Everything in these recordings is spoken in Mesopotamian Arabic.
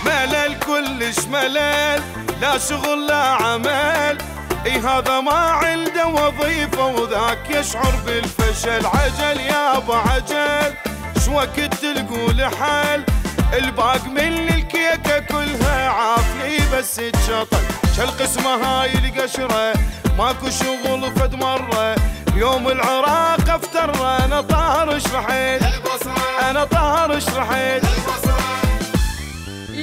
ملل كلش ملل، لا شغل لا عمل، اي هذا ما عنده وظيفة وذاك يشعر بالفشل. عجل يابا عجل، شوقت تلقوا حل، الباق من الكيكة كلها عافلي بس تشطل. شالقسمة هاي القشرة ماكو شغل فد مرة، يوم العراق افتر انا طارش رحيل، انا طارش رحيل.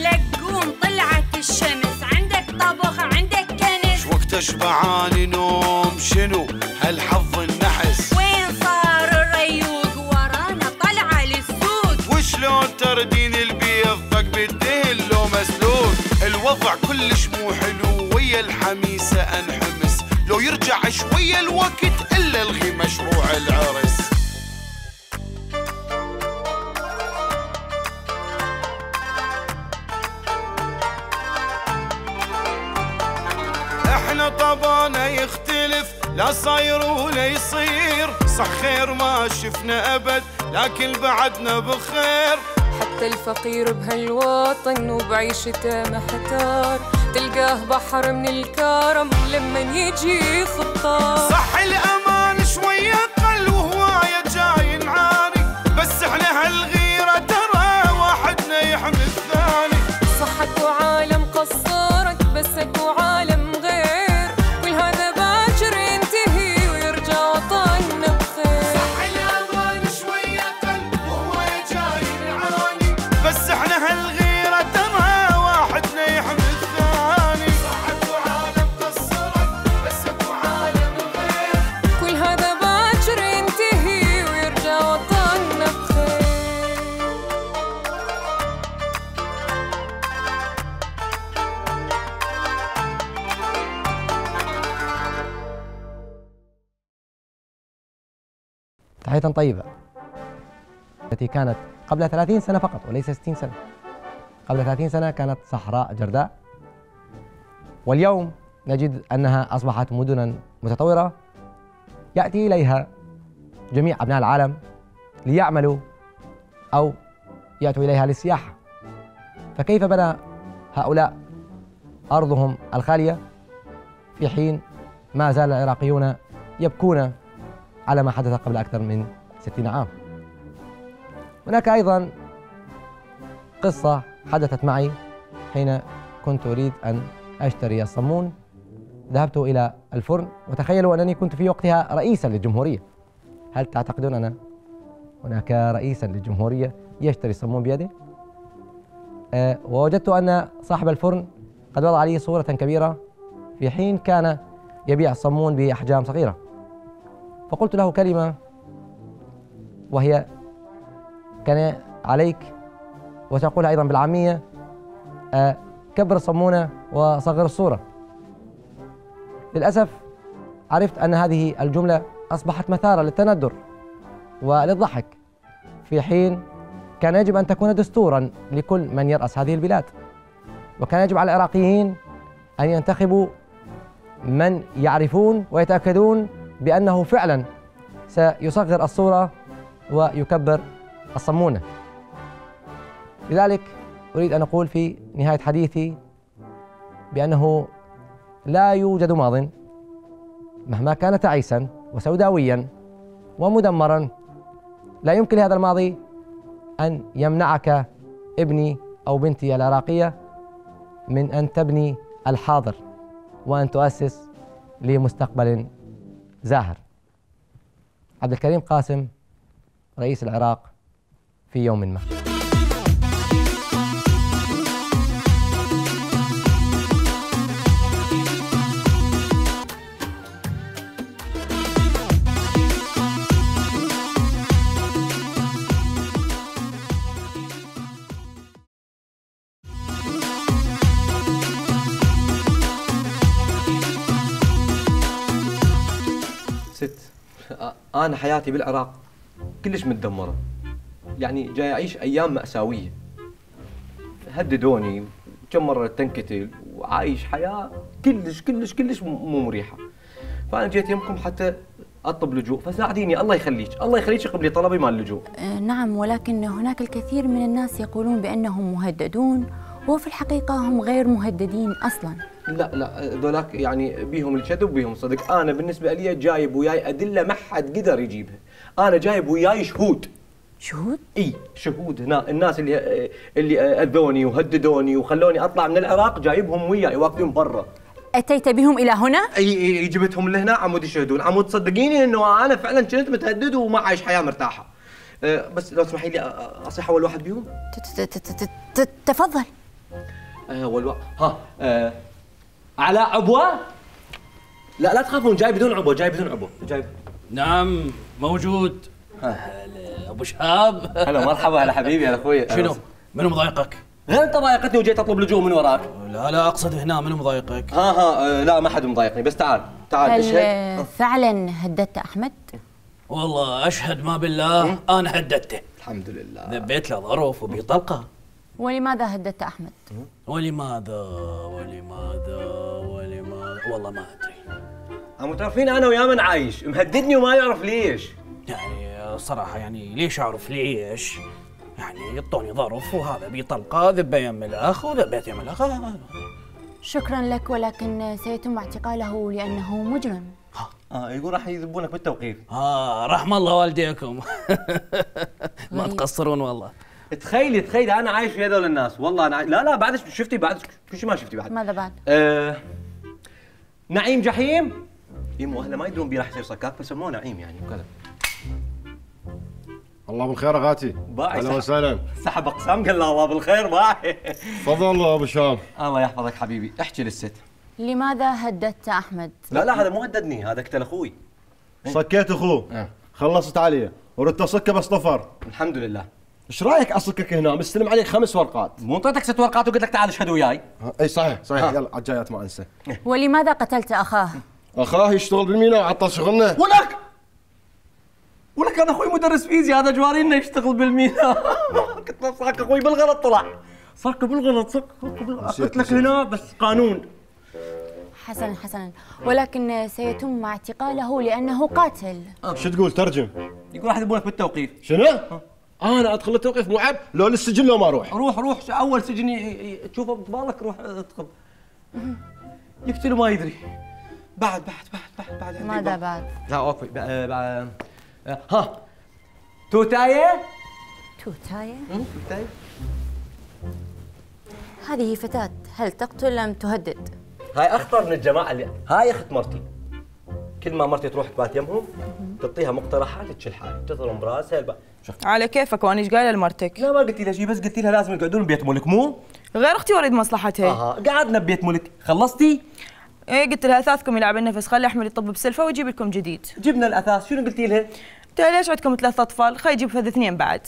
لقوم طلعت الشمس، عندك طبخ عندك كنس، وقت اشبعاني نوم شنو هالحظ النحس. وين صار الريوق ورانا طلعة للسوق، وشلون تردين البيض ضق بالدهن لو مسلوق. الوضع كلش مو حلو ويا الحميسة انحمس، لو يرجع شوية الوقت الا الغي مشروع العرس. احنا طبعنا يختلف، لا صاير ولا يصير، صح خير ما شفنا ابد لكن بعدنا بخير. حتى الفقير بهالوطن وبعيشته محتار، تلقاه بحر من الكرم لما يجي خطار. صح الامان شوية قل وهواية جاي نعاني، بس احنا هالغيرة ترى واحدنا يحمي الثاني. صح اكو عالم قصرك بس اكو عالم غير، كل هذا باكر ينتهي ويرجع وطننا بخير. صح الامان شوية قل وهواية جاي نعاني، بس احنا هالغيرة ترى واحدنا يحمي الثاني. صح اكو عالم قصرك بس اكو عالم غير، كل هذا باكر ينتهي ويرجع وطننا بخير. تحية طيبة التي كانت قبل 30 سنة فقط وليس 60 سنة. قبل 30 سنة كانت صحراء جرداء، واليوم نجد أنها أصبحت مدنا متطورة يأتي إليها جميع أبناء العالم ليعملوا أو يأتوا إليها للسياحة. فكيف بنى هؤلاء أرضهم الخالية في حين ما زال العراقيون يبكون على ما حدث قبل أكثر من 60 عام؟ هناك أيضا قصة حدثت معي حين كنت أريد أن أشتري الصمون. ذهبت إلى الفرن وتخيلوا أنني كنت في وقتها رئيسا للجمهورية. هل تعتقدون أن هناك رئيسا للجمهورية يشتري الصمون بيده؟ ووجدت أن صاحب الفرن قد وضع لي صورة كبيرة في حين كان يبيع الصمون بأحجام صغيرة. فقلت له كلمة وهي: كان عليك وتقولها أيضا بالعامية، كبر الصمونة وصغر الصورة. للأسف عرفت أن هذه الجملة أصبحت مثارة للتندر وللضحك، في حين كان يجب أن تكون دستورا لكل من يرأس هذه البلاد، وكان يجب على العراقيين أن ينتخبوا من يعرفون ويتأكدون بأنه فعلا سيصغر الصورة ويكبر الصمونة. لذلك أريد أن أقول في نهاية حديثي بأنه لا يوجد ماضٍ مهما كان تعيسا وسوداويا ومدمرا، لا يمكن لهذا الماضي أن يمنعك ابني أو بنتي العراقية من أن تبني الحاضر وأن تؤسس لمستقبل زاهر. عبد الكريم قاسم، رئيس العراق في يوم ما. ست، أنا حياتي بالعراق كلش متدمرة، يعني جاي أعيش أيام مأساوية. هددوني كم مرة تنقتل، وعايش حياة كلش كلش كلش مو مريحة. فانا جيت يمكم حتى اطلب لجوء، فساعديني الله يخليك، الله يخليك قبلي طلبي مال اللجوء. نعم، ولكن هناك الكثير من الناس يقولون بأنهم مهددون، وفي الحقيقة هم غير مهددين أصلاً. لا ذولاك يعني بيهم الكذب وبيهم الصدق. انا بالنسبه لي جايب وياي ادله ما حد قدر يجيبها. انا جايب وياي شهود. شهود؟ اي شهود. هنا الناس اللي اذوني وهددوني وخلوني اطلع من العراق جايبهم وياي واقفين برا. أتيت بهم إلى هنا؟ اي جبتهم لهنا عمود يشهدون. عمود تصدقيني انه انا فعلا كنت متهدد وما عايش حياه مرتاحه. بس لو تسمحي لي اصيح اول واحد بيهم. تفضل. اول ها على عبوه؟ لا تخافون، جاي بدون عبوه، جاي بدون عبوه، جاي. نعم موجود. هلا ابو شهاب. هلا مرحبا. هلا حبيبي. هلا اخوي. شنو؟ منو مضايقك؟ غير انت ضايقتني وجيت اطلب لجوء من وراك. لا اقصد هنا منو مضايقك؟ لا ما حد مضايقني، بس تعال اشهد. هل فعلا هددت أحمد؟ والله اشهد ما بالله انا هددته. الحمد لله. ذبيت له ظرف وبطلقه. ولماذا هددت أحمد؟ ولماذا والله ما ادري. عم تعرفين انا ويا من عايش مهددني وما يعرف ليش. يعني صراحه يعني ليش اعرف ليش؟ يعني يعطوني ظرف وهذا بطلقه، ذبه يم الاخ وذبيت يم الاخ. شكرا لك، ولكن سيتم اعتقاله لأنه مجرم. يقول راح يذبونك بالتوقيف. رحم الله والديكم. ما تقصرون والله. تخيلي انا عايش ويا هذول الناس. والله انا لا بعد شفتي بعد كل شيء ما شفتي بعد. ماذا بعد؟ نعيم جحيم. يمو اهله ما يدرون بي راح يصير صكاك فسموه نعيم يعني وكذا. الله بالخير اغاتي. اهلا وسهلا. سحب اقسام قال له الله بالخير. باي. تفضل ابو شهاب. الله يحفظك حبيبي. احكي للست. لماذا هددت أحمد؟ لا هذا مو هددني، هذا قتل اخوي. صكيت اخوه. خلصت عليه وردت اصكه بس طفر. الحمد لله. ايش رايك اصكك هنا مستلم عليك 5 ورقات؟ مو اعطيتك 6 ورقات وقلت لك تعال اشهد وياي؟ اي صحيح يلا على الجايات ما انسى. ولماذا قتلت أخاه؟ اخاه يشتغل بالميناء وعطل شغلنا. ولك انا اخوي مدرس فيزياء، هذا جواري انه يشتغل بالميناء. قلت له صاك اخوي بالغلط طلع. صاك بالغلط قلت لك هنا بس قانون. حسنا، ولكن سيتم اعتقاله لأنه قاتل. شو تقول ترجم؟ يقول راح يذبونك بالتوقيف. شنو؟ انا ادخل التوقيف مو عيب؟ لو للسجن لو ما اروح. روح اول سجن تشوفه ببالك روح ادخل. يقتل ما يدري. بعد ماذا بعد؟ لا اوكي بعد توتايه. هذه فتاة، هل تقتل أم تهدد؟ هاي اخطر من الجماعه اللي هاي اخت مرتي. كل ما مرتي تروح تبات يمهم تعطيها مقترحات تشل حالي تضرب براسها شفت على كيفك وانا ايش قايله لمرتك؟ لا ما قلت لها شيء، بس قلت لها لازم يقعدون ببيت ملك مو؟ غير اختي وريد مصلحتها. قعدنا ببيت ملك. خلصتي؟ ايه قلت لها اثاثكم يلعب النفس، خلي احمد يطب بسلفه ويجيب لكم جديد. جبنا الاثاث. شنو قلتي لها؟ قلت لها ليش عندكم 3 اطفال؟ خلي يجيب فذ 2 بعد.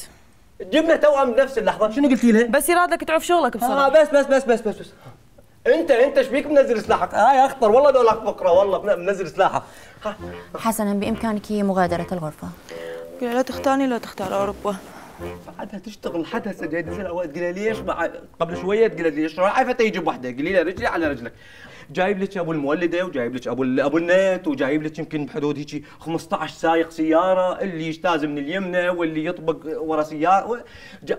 جبنا توأم بنفس اللحظه. شنو قلتي لها؟ بس يراد لك تعرف شغلك بصراحه. بس انت ايش بيك منزل سلاحك؟ هاي اخطر والله ذولاك فقره والله منزل سلاحك. حسنا، بامكانك مغادره الغرفه. قلت لا تختارني لا تختار اوروبا. بعدها تشتغل حد هسه جاي يدز الاوقات. تقول لها ليش قبل شويه تقول لها ليش رايحه يجيب وحده؟ قولي لها رجلي على رجلك. جايب لك ابو المولده وجايب لك ابو النت وجايب لك يمكن بحدود هيك 15 سايق سياره اللي يجتاز من اليمنى واللي يطبق ورا سياره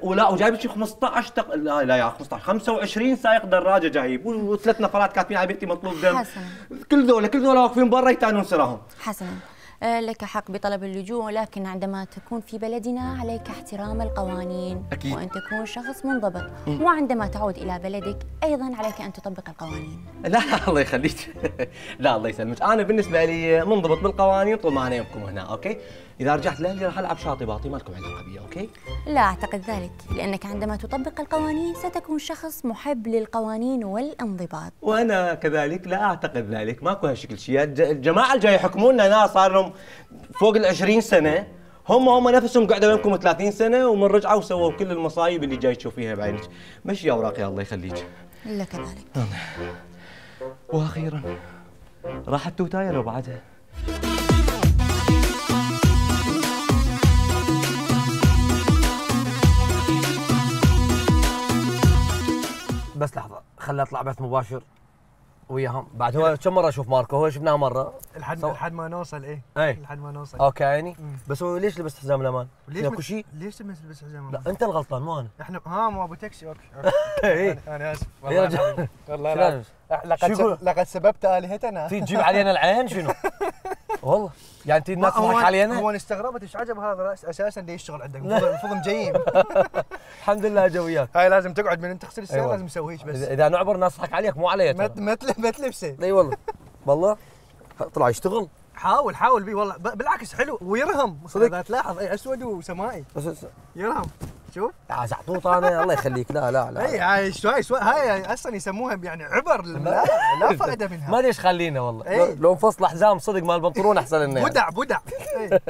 وجايب لك 15 لا يا 15 25 سايق دراجه جايب و3 نفرات كاتبين على بيتي مطلوب دم. حسنا، كل ذولا واقفين برا يتعنون سراهم. حسنا، لك حق بطلب اللجوء، ولكن عندما تكون في بلدنا عليك احترام القوانين. أكيد. وأن تكون شخص منضبط. وعندما تعود إلى بلدك أيضا عليك أن تطبق القوانين. لا الله يخليك. لا الله يسلمك. أنا بالنسبة لي منضبط بالقوانين طول ما أنا يمكم هنا. أوكي؟ إذا رجعت لأهلي راح ألعب شاطي باطي، ما لكم علاقة بي. أوكي؟ لا أعتقد ذلك، لأنك عندما تطبق القوانين ستكون شخص محب للقوانين والانضباط. وأنا كذلك لا أعتقد ذلك. ماكو هالشكل شيء. الجماعة اللي جاي يحكمونا ناس صار لهم فوق ال20 سنة، هم نفسهم قعدوا يمكم 30 سنة ومن رجعوا وسووا كل المصايب اللي جاي تشوفيها بعينك. مشي أوراقي الله يخليك. إلا كذلك. وأخيرا راحت توتاية لو بعدها. بس لحظة، خلي اطلع بث مباشر وياهم بعد. هو كم مره اشوف ماركو؟ هو شفناه مره لحد ما نوصل ايه لحد ما نوصل. اوكي عيني. بس هو ليش لبست حزام الامان؟ ليش اكو شيء؟ ليش تلبس حزام الامان؟ لا انت الغلطان مو انا. احنا مو ابو تاكسي. اوكي انا اسف يا رجال والله لا. لقد سببت الهتنا. تجيب علينا العين شنو؟ والله يعني انت الناس تضحك علينا. هو استغربت ايش عجب هذا اساسا ليش يشتغل عندك؟ المفروض مجيم. الحمد لله جو وياك. هاي لازم تقعد من انت تغسل السياره لازم تسويش بس. اذا نعبر الناس تضحك عليك مو علي. ما تلبسه. اي والله والله طلع يشتغل. حاول بيه والله بالعكس حلو ويرهم صدق. اذا تلاحظ اي اسود وسمائي بس يرهم. شوف يا زعطوط انا الله يخليك. لا اي هاي شوي هاي اصلا يسموها يعني عبر. لا فائده منها. ما ادري ايش خلينا والله. لو انفصل حزام صدق مال البنطلون احسن لنا.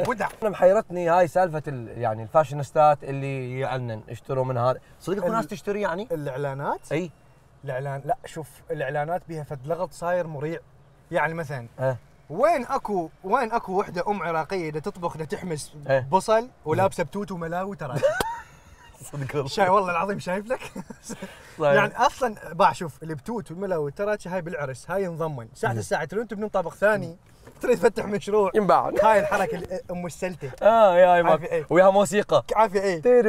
بدع انا محيرتني هاي سالفه يعني الفاشينيستات اللي يعلنن اشتروا من هذا. صدق اكو ناس تشتري يعني الاعلانات. اي الاعلان. لا شوف الاعلانات بيها فد لغط صاير مريع. يعني مثلا وين اكو وحده عراقيه دا تطبخ دا تحمس بصل ولابسه بتوت وملاوي ترى. صدق والله. شاي والله العظيم شايف لك. يعني اصلا شوف البتوت والملاوي ترى هاي بالعرس هاي انضمن الساعه ترون تبنون طابق ثاني تريد تفتح مشروع ينباع. هاي الحركه ام السلته. يا ماك وياها موسيقى عافيه. ايه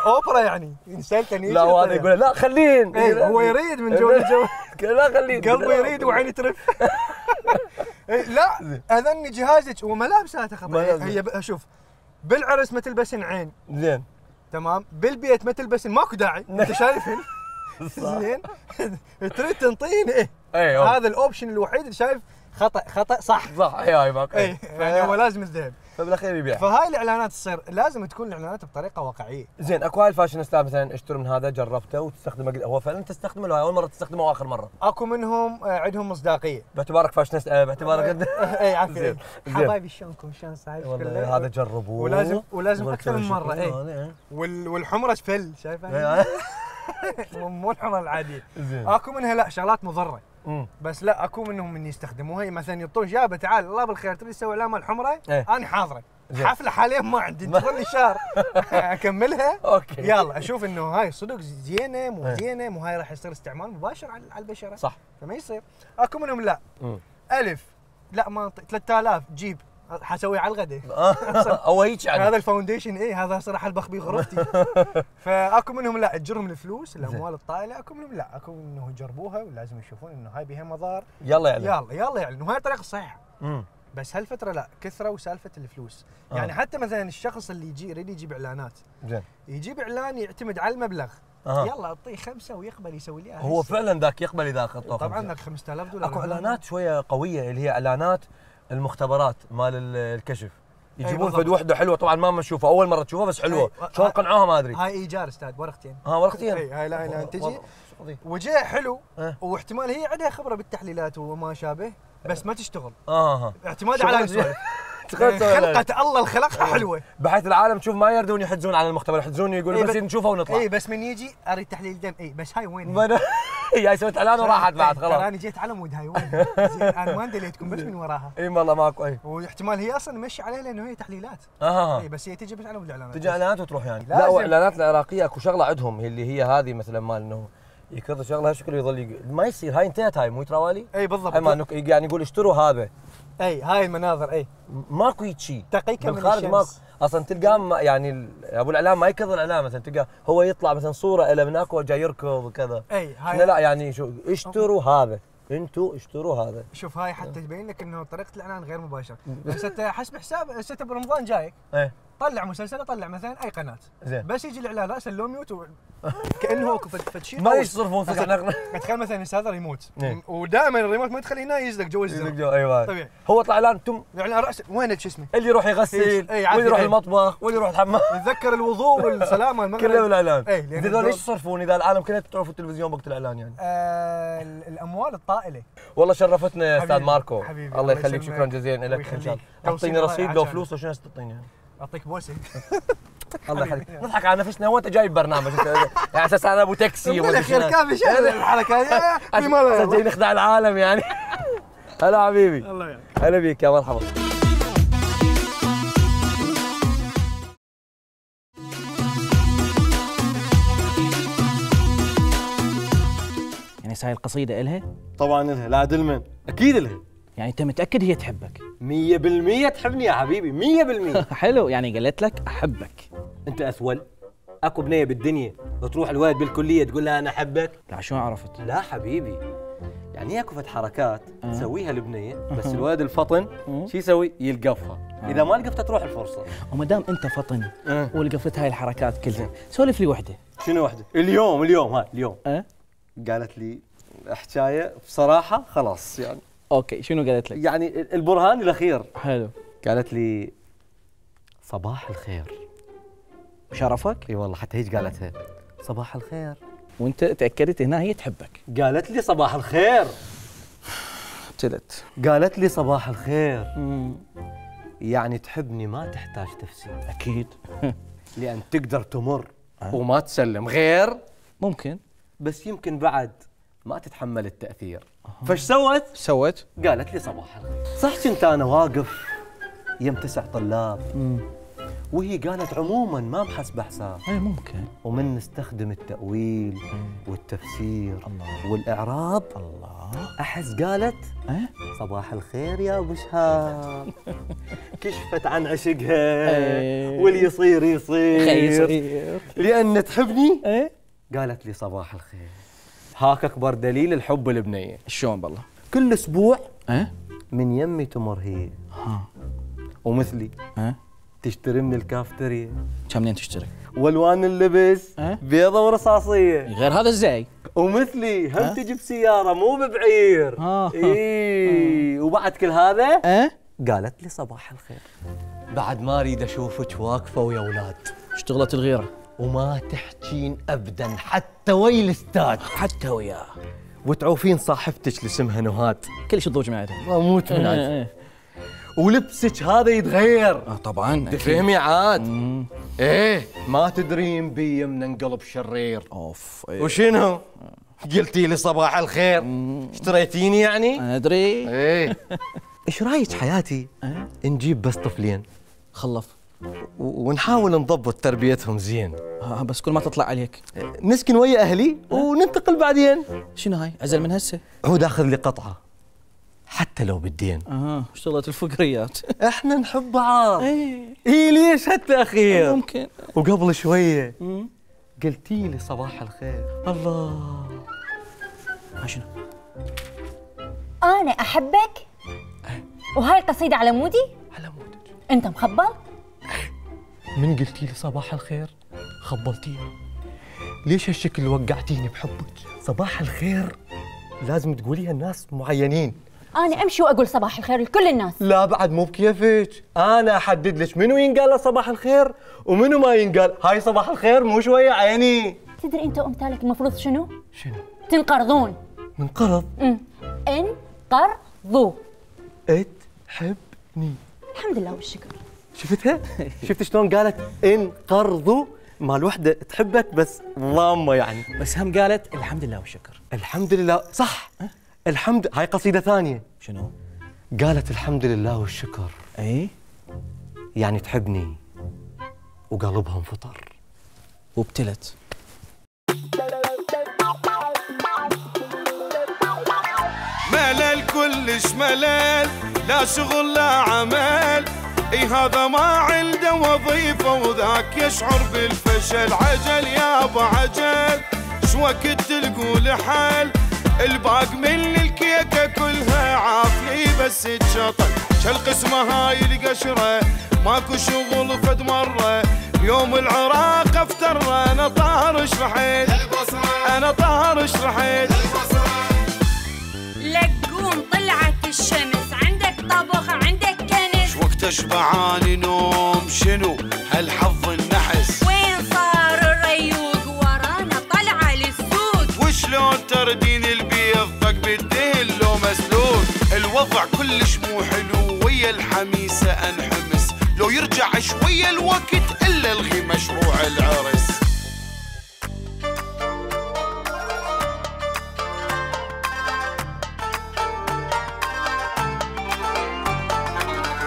اوبرا يعني سلته نيجي. لا هذا يقول لا خلين. هو يريد من جو الجو. لا خلين قلبه يريد وعيني ترف. لا اذني جهازك وملابساته خطا. هي شوف بالعرس ما تلبسن عين زين تمام. بالبيت ما تلبسن ماكو داعي. انت شايفهن زين. تريد تنطين هذا الاوبشن الوحيد اللي شايف خطا صح. هاي ماكو. يعني هو لازم الذهب فبالاخير يبيع. فهاي الاعلانات تصير لازم تكون الاعلانات بطريقه واقعيه. زين اكو هاي الفاشينيستا مثلا اشتروا من هذا جربته وتستخدمه. هو فعلا تستخدمه ولا اول مره تستخدمه واخر مره؟ اكو منهم عندهم مصداقيه. باعتبارك فاشينيست باعتبارك اي عافيه. حبايبي شلونكم شلون صاير؟ والله هذا جربوه ولازم اكثر من مره. والحمره فل شايفها؟ مو الحمره العاديه. اكو منها لا شغلات مضره. بس لا اكو منهم من يستخدموها مثلا يعطون جابه تعال الله بالخير تبي تسوي اعلان مال الحمره؟ انا حاضره. حفله حاليا ما عندي انتظرني شهر اكملها. اوكي يلا اشوف انه هاي صدق زينه مو زينه مو هاي راح يصير استعمال مباشر على البشره. صح. فما يصير. اكو منهم لا الف لا ما 3000 جيب حسوي على الغداء. او هيك يعني هذا الفاونديشن هذا صراحه البخ بيه غرفتي. فاكو منهم لا تجرهم الفلوس الاموال الطائله. اكو منهم لا اكو انه يجربوها ولازم يشوفون انه هاي بها مضار. يلا يعلن وهاي الطريقه الصحيحه. بس هالفتره لا كثروا سالفه الفلوس. يعني حتى مثلا الشخص اللي يريد يجيب اعلانات زين يجيب اعلان يعتمد على المبلغ. يلا اعطيه 5 ويقبل يسوي لي. هو فعلا ذاك يقبل اذا اخذته. طبعا ذاك $5000. اكو اعلانات شويه قويه اللي هي اعلانات المختبرات مال الكشف. يجيبون فد وحده حلوه طبعا ما نشوفها اول مره تشوفها بس حلوه. شلون قنعوها ما ادري. هاي ايجار استاذ ورقتين. ورقتين. هاي لا تجي وجه حلو واحتمال هي عندها خبره بالتحليلات وما شابه بس ما تشتغل. اعتماد على السوالف. خلقة الله الخلقها حلوه بحيث العالم تشوف ما يردون يحجزون على المختبر يحجزون يقولوا بس نشوفها ونطلع. بس من يجي اريد تحليل دم بس هاي وين؟ هي سويت اعلان وراحت بعد خلاص. انا جيت على مود هاي وين؟ زين انا ما دليتكم بس من وراها. والله ماكو واحتمال هي اصلا مشي عليها لانه هي تحليلات. بس هي تجي بس على مود الاعلانات. تجي اعلانات وتروح يعني. لا واعلانات العراقيه اكو شغله عندهم اللي هي هذه مثلا مال انه يكرر شغله شكله يظل ما يصير. هاي انتهت هاي مو تراوالي. بالضبط. يعني يقول اشتروا هذا. هاي المناظر ماكو هيك شيء. دقيقه من الشمس. ماكو اصلا تلقاه يعني ابو الاعلام ما يكرر الاعلام مثلا تلقاه هو يطلع مثلا صوره له من هناك جاي يركض وكذا. هاي لا يعني شو اشتروا هذا انتوا اشتروا هذا. شوف هاي حتى تبين لك انه طريقه الاعلان غير مباشره. بس انت حسب حساب هسه برمضان جايك طلع مسلسل طلع مثلا اي قناه زين بس يجي الاعلان راسا لو ميوت كانه فد شيء ما يصرفون تخيل مثلا هذا ريموت ودائما الريموت ما تخليه هنا يزلق جو الزر. ايوه طبيعي. هو طلع اعلان تم يعني راس وين شو اسمه اللي يروح يغسل واللي يروح المطبخ واللي يروح الحمام يتذكر الوضوء والسلامه المغرب كله بالاعلان. هذول ليش يصرفون اذا العالم كلها تطلع في التلفزيون وقت الاعلان يعني؟ الاموال الطائله. والله شرفتنا يا استاذ ماركو. الله يخليك شكرا جزيلا لك ان شاء الله. اعطيني رصيد لو فلوس لو شنو تعطيني يعني؟ اعطيك بوسه. الله يخليك نضحك على نفسنا وانت جايب برنامج يعني اساس انا ابو تاكسي ولا خير كافي شغل الحركه هذه جاي نخدع العالم يعني. هلا حبيبي الله يعينك. هلا بيك يا مرحبا. يعني بس هاي القصيدة إلها؟ طبعا لها، لا عدل من، اكيد لها. يعني أنت متأكد هي تحبك؟ 100% تحبني يا حبيبي، 100%. حلو، يعني قالت لك أحبك. انت اثول؟ اكو بنيه بالدنيا تروح الولد بالكليه تقول لها انا احبك؟ لا شو عرفت؟ لا حبيبي، يعني اكو فد حركات تسويها البنيه، بس الولد الفطن شو يسوي؟ يلقفها، اذا ما لقفتها تروح الفرصه. وما دام انت فطن ولقفت هاي الحركات كلها، سولف لي وحده. شنو وحده؟ اليوم قالت لي حكايه بصراحه خلاص يعني. اوكي، شنو قالت لك؟ يعني البرهان الاخير. حلو. قالت لي صباح الخير. شرفك؟ اي والله، حتى هيك قالتها، صباح الخير. وانت تاكدت هنا هي تحبك؟ قالت لي صباح الخير. ابتلت. قالت لي صباح الخير. يعني تحبني ما تحتاج تفسير. اكيد. لان تقدر تمر وما تسلم غير. ممكن، بس يمكن بعد ما تتحمل التاثير. فايش سوت؟ قالت لي صباح الخير. صح كنت انا واقف يم 9 طلاب وهي قالت عموما ما محسبه حساب. اي ممكن. ومن نستخدم التأويل والتفسير والإعراب، أحس قالت صباح الخير يا أبو شهاب. كشفت عن عشقها واللي يصير يصير لأن تحبني. قالت لي صباح الخير. هاك أكبر دليل الحب البنية. شلون بالله؟ كل أسبوع من يمي تمر هي ومثلي تشتري من الكافتريا. كم منين تشتري؟ والوان اللبس بيضة ورصاصية. غير هذا ازاي؟ ومثلي هم تجي بسيارة مو ببعير. وبعد كل هذا قالت لي صباح الخير. بعد ما اريد اشوفك واقفة ويا اولاد. اشتغلت الغيرة وما تحجين ابدا حتى ويا الاستاذ. حتى وياه. وتعوفين صاحبتك اللي اسمها نهاد. كلش تضوج معها. اموت من عاد. ولبسك هذا يتغير. طبعا. تفهمي عاد. ايه ما تدرين بي من انقلب شرير. اوف. وشنو؟ قلتي لي صباح الخير. اشتريتيني يعني؟ انا ادري. ايه. ايش رايك حياتي نجيب بس طفلين خلف ونحاول نضبط تربيتهم زين. بس كل ما تطلع عليك نسكن ويا اهلي وننتقل بعدين. شنو هاي؟ عزل من هسه. هو داخل لي قطعه حتى لو بالدين. اشتغلت الفقريات. احنا نحب بعض. ايه ليش هالتاخير؟ ممكن. وقبل شويه قلتي لي صباح الخير. الله. شنو؟ انا احبك. وهاي القصيده على مودي؟ على مودك. انت مخبل؟ من قلتي لي صباح الخير خبلتيني. ليش هالشكل وقعتيني بحبك؟ صباح الخير لازم تقوليها الناس معينين. أنا أمشي وأقول صباح الخير لكل الناس. لا بعد مو بكيفك، أنا أحدد لك منو ينقال له صباح الخير ومنو ما ينقال. هاي صباح الخير مو شوية عيني. تدري أنت وأمثالك المفروض شنو؟ شنو؟ تنقرضون. ننقرض؟ انقرضوا. تحبني. الحمد لله والشكر. شفتها؟ شفت شلون قالت انقرضوا؟ مال وحدة تحبك بس ضامة يعني. بس هم قالت الحمد لله والشكر. الحمد لله صح. الحمد. هاي قصيدة ثانية. شنو؟ قالت الحمد لله والشكر. اي يعني تحبني وقلبها انفطر. وابتلت. ملل كلش ملل، لا شغل لا عمل، اي هذا ما عنده وظيفة وذاك يشعر بالفشل. عجل يابا عجل، شو وقت تلقوا حل، الباق من الكيكة كلها عافلي بس تشطل. شالقسمة هاي القشرة ماكو شغل فد مرة، يوم العراق افتر انا طارش رحيل، انا طارش رحيل. لقوم طلعت الشمس، عندك طبخ عندك كنس، وقت اشبعاني نوم شنو هالحظ النحس. وين صار الريوق ورانا طلعة للسوق، وشلون تردين البيض فق بالدهن لو مسلوق. الوضع كلش مو حلو ويا الحميسة انحمس، لو يرجع شوية الوقت الا الغي مشروع العرس.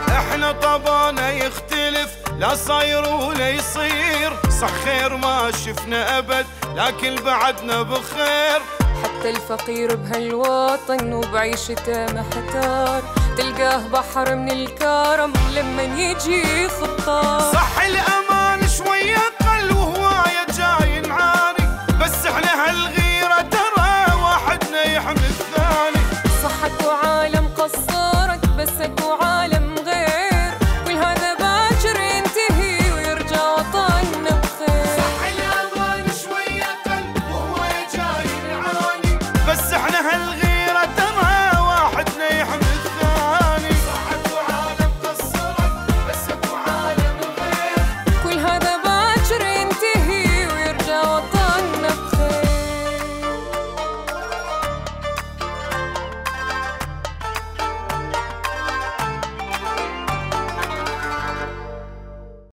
احنا طبعنا يختلف، لا صاير ولا يصير، صح خير ما شفنا ابد لكن بعدنا بخير. حتى الفقير بهالوطن وبعيشته محتار، تلقاه بحر من الكرم لما يجي خطار. صح الأمل